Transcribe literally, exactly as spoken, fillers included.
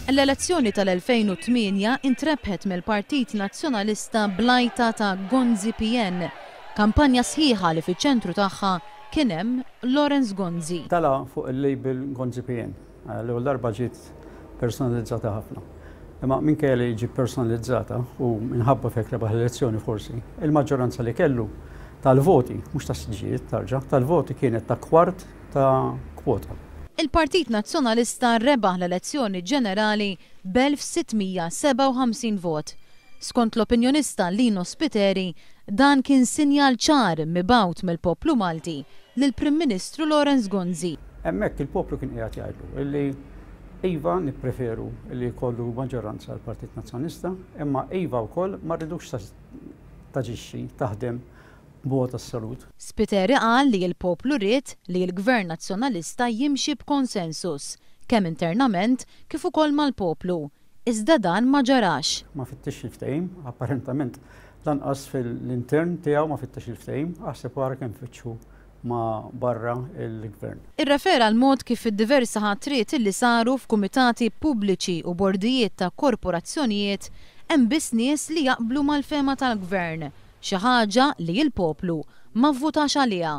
L-elezzjoni tal-elfejn u tmienja intrebħet mill-Partit Nazzjonalista bl-għajta ta' Gonzi P N, kampanja sħiħa li fiċ-ċentru tagħha kien hemm Lawrence Gonzi. Tala fuq il-label Gonzi P N, l-ewwel darba ġiet personalizzata ħafna. Imma minkejja li ġiet personalizzata u minħabba f'hekk rebaħ l-elezzjoni forsi, il-maġġoranza li kellu tal-voti, mhux ta' siġġijiet tarġa, tal-voti kienet ta' kwart ta' kwota. Il-Partit Nazzjonalista rebaħ l-elezzjoni ġenerali b'elf sitt mija sebgħa u ħamsin vot. Skont l-opinjonista Lino Spiteri, dan kien sinjal ċar mibgħut mill-poplu Malti lill-Prim Ministru Lawrence Gonzi. Hemmhekk il-poplu kien qiegħed jgħidlu illi iva, nippreferu li jkollu maġġoranza l-Partit Nazzjonalista, imma iva wkoll ma rridux taġixxi, taħdem b'mod assolut. Spiteri qal li l-poplu ried li l-Gvern Nazzjonalista jimxi b'konsensus, kemm internament kif ukoll mal-poplu. Iżda dan ma ġarax. Ma fittix il-ftehim, apparentament lanqas fil-intern tiegħu ma fittix il-ftehim, aħseb wara kemm fittxu ma barra il-gvern. Irrefera l-mod kif id-diversi ħatriet li saru f'kumitati pubbliċi u bordijiet ta' korporazzjonijiet hemm biss nies li jaqblu mal-fehma tal-gvern, xi ħaġa li l-poplu ma vvutax għaliha.